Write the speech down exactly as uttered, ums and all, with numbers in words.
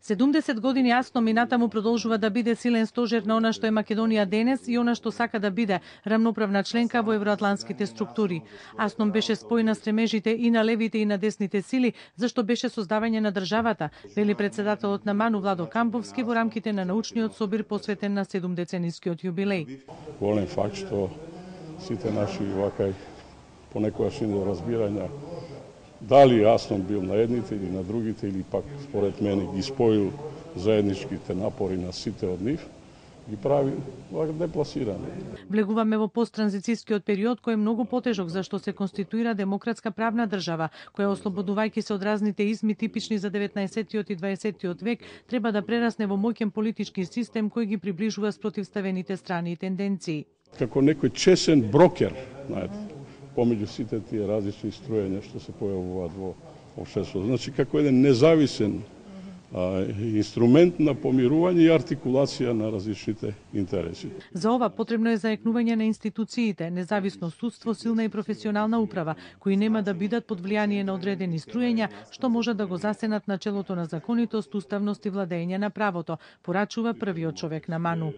седумдесет години АСНОМ и натаму продолжува да биде силен стожер на она што е Македонија денес и она што сака да биде рамноправна членка во евроатлантските структури. АСНОМ беше спој на стремежите и на левите и на десните сили, зашто беше создавање на државата, вели председателот на МАНУ Владо Камповски во рамките на научниот собир посветен на седумдеценискиот јубилеј. Голем факт што сите наши вакај понекогаш и неразбирања дали АСНОМ бил на едните или на другите, или пак според мене ги споил заедничките напори на сите од нив, ги прави депласирани. Влегуваме во посттранзицијскиот период кој е многу потежок зашто се конституира демократска правна држава, која ослободувајќи се од разните изми типични за деветнаесеттиот и дваесеттиот век, треба да прерасне во моќен политички систем кој ги приближува спротивставените страни и тенденции. Како некој чесен брокер, знаете, помеѓу сите тие различни струења што се појавуваат во општеството. Значи, како еден независен а, инструмент на помирување и артикулација на различните интереси. За ова потребно е заекнување на институциите, независно судство, силна и професионална управа, кои нема да бидат под влијание на одредени струења, што може да го засенат начелото на законитост, уставност и владење на правото, порачува првиот човек на МАНУ.